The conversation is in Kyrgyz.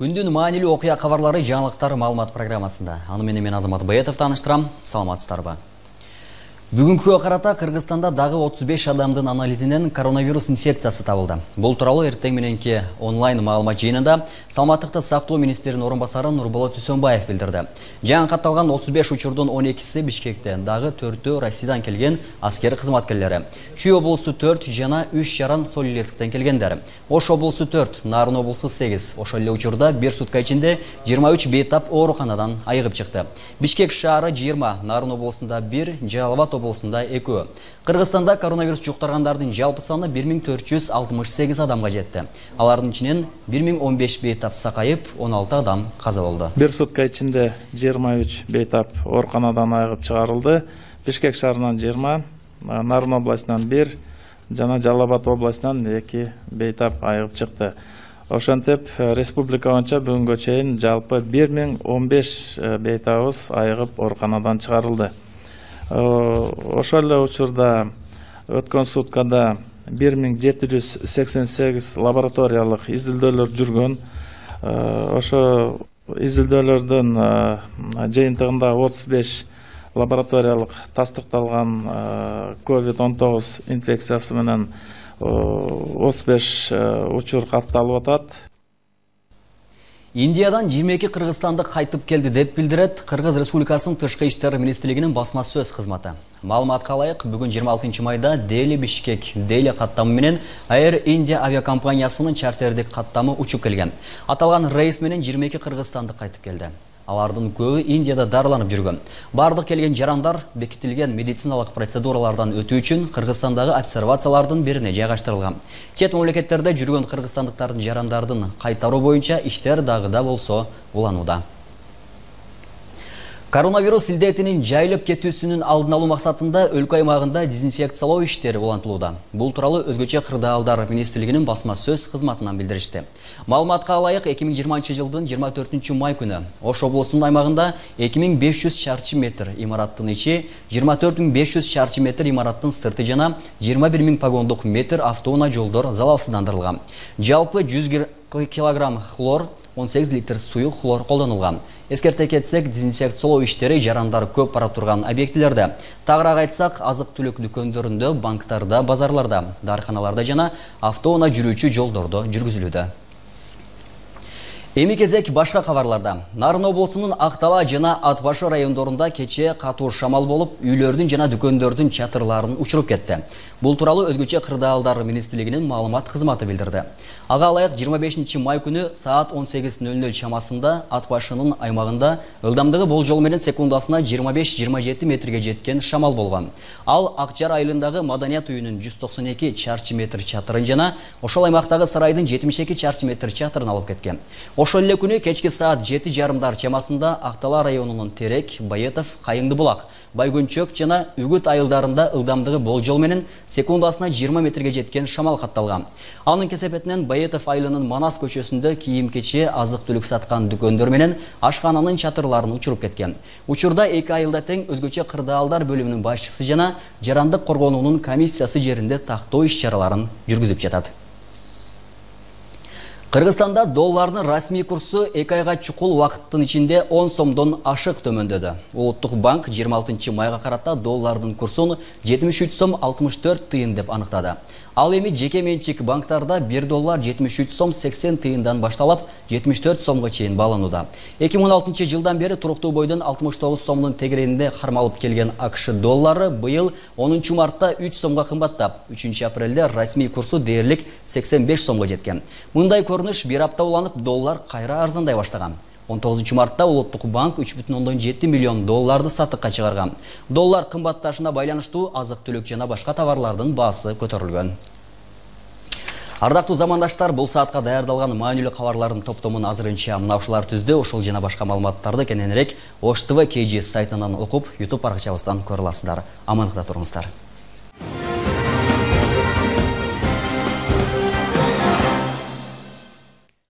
Күндүн маанилүү окуя кабарлары жаңылыктар маалымат программасында. Аны менен мен Азамат Баятов тааныштырам. Саламатсыздарбы? Бүгүнкүгө карата Кыргызстанда дагы 35 адамдын анализинен коронавирус инфекциясы табылды. Бул тууралуу эртең мененки онлайн маалымат жыйынында Саламаттыкты сактоо министринин орун басары Нурболот Үсөнбаев билдирди. Жаңы катталган 35 учурдун 12си Бишкекте, дагы 4-өө Россиядан келген аскер кызматкерлери. Чүй облусу 4 жана 3 жаран Солилецктен келгендер. Ош облусу 4, Нарын облусу 8. Ошол эле учурда бир сутка ичинде 23 бейтап ооруканадан айыгып чыкты. Бишкек шаары 20, Нарын облусунда 1, Жалал-Абад облусунда 2. Кыргызстанда коронавирус жуктаргандардын жалпы саны 1468 адамга жетти. Алардын ичинен 1015 бейтап сакайып, 16 адам каза болду. Бир сутка ичинде 23 бейтап ооруканадан айыгып чыгарылды. Бишкек шаарынан 20, Нарын областынан 1 жана Жалал-Абад областынан 2 бейтап айыгып чыкты. Ошентип, республика боюнча бүгүнгө чейин жалпы 1015 бейтабыбыз айыгып ооруканадан чыгарылды. Ошол эле учурда өткөн суткада 1788 лабораториялык изилдөөлөр жүргөн. Ошо изилдөөлөрдүн жыйынтыгында 35 лабораториялык тастыкталган COVID-19 инфекциясы менен 35 учур катталып атат. Индиядан 22 кыргызстандык кайтып келди деп билдирет Кыргыз Республикасынын Тышкы иштер министрлигинин басма сөз кызматы. Маалыматка ылайык, бүгүн 26 майда Дели Бишкек Дели каттамы менен Air India авиакомпаниясынын чартердик каттамы учуп келген. Аталган рейс менен 22 кыргызстандык кайтып келди. Алардын көбү Индияда дарыланып жүргөн. Бардык келген жарандар бекитилген медициналык процедуралардан өтүү үчүн Кыргызстандагы обсервациялардын бирине жайгаштырылган. Чет мамлекеттерде жүргөн кыргызстандыктардын жарандардын кайтаруу боюнча иштер дагы да болсо уланууда. Коронавирус илдетинин жайылып кетүүсүнүн алдын алуу максатында өлкө аймагында дезинфекциялоо иштери улантылууда. Бул тууралуу өзгөчө кырдаалдар министрлигинин басма сөз кызматынан билдиришти. Маалыматка ылайык, 2020 жылдын 24 май күнү Ош облусунун аймагында 2500 чарчы метр имараттын ичи, 24500 чарчы метр имараттын сырты жана 21000 погондук метр автоунаа жолдор залалсыздандырылган. Жалпы 100 килограмм хлор, 18 литр суюк хлор колдонулган. Эскерте кетсек, дезинфекциялоо иштери жарандар көп бара турган объектилерде, тагыраак айтсак, азык-түлүк дүкөндөрүндө, банктарда, базарларда, дарыканаларда жана автоунаа жүрүүчү жолдордо жүргүзүлүүдө. Эми кезек башка кабарларда. Нарын облусунун Актала жана Ат Башы райондорунда кечээ катуу шамал болуп, үйлөрдүн жана дүкөндөрдүн чатырларын учуруп кетти. Бул тууралуу өзгөчө кырдаалдар министрлигинин маалымат кызматы билдирди. Ага ылайык 25 май күнү саат 18:00 чамасында Ат Башынын аймагында ылдамдыгы болжол менен секундасына 25-27 метрге жеткен шамал болгон. Ал Акчар айылындагы Маданият үйүнүн 192 чарчы метр чатырын жана ошол аймактагы сарайдын 72 чарчы метр чатырын алып кеткен. Ошол эле күнү кечки саат 7:30 чамасында Актала районунун Терек, Байетов, Кайыңды булак, Байгөнчөк жана Үгүт айылдарында ылдамдыгы болжол менен секундасына 20 метрге жеткен шамал катталган. Анын кесепетинен Байетов айылынын Манас көчөсүндө кийим-кече, азык-түлүк саткан дүкөндөр менен ашкананын чатырларын учуруп кеткен. Учурда 2 айылда тең өзгөчө кырдаалдар бөлүмүнүн башчысы жана жарандык коргонуунун комиссиясы жеринде тактоо иш-чараларын жүргүзүп жатат. Кыргызстанда доллардын расмий курсу 2 айга чукул убакыттын ичинде 10 сомдон ашык төмөндөдү. Улуттук банк 26 майга карата доллардын курсун 73 сом 64 тыйын деп аныктады. Ал эми жеке менчик банктарда 1 доллар 73 сом 80 тыйындан башталып 74 сомго чейин бааланууда. 2016 жылдан бери туруктуу бойдон 69 сомдун тегерегинде кармалып келген АКШ доллары быйыл 10 мартта 3 сомго кымбаттап, 3 апрелде расмий курсу дээрлик 85 сомго жеткен. Мындай көрүнүш бир апта уланып доллар кайра арзандай баштаган. 19 мартта Улуттук банк 3,7 миллион долларды сатыкка чыгарган. Доллар кымбатташына байланыштуу азык-түлүк жана башка товарлардын баасы көтөрүлгөн. Ардактуу замандаштар, бул саатка даярдалган маанилүү кабарлардын топтомун азырынча мына ушулар түздү. Ошол жана башка маалыматтарды кененирээк Ош ТВ KG сайтынан окуп, YouTube баракчабыздан көрө аласыздар. Амандыкта туруңуздар.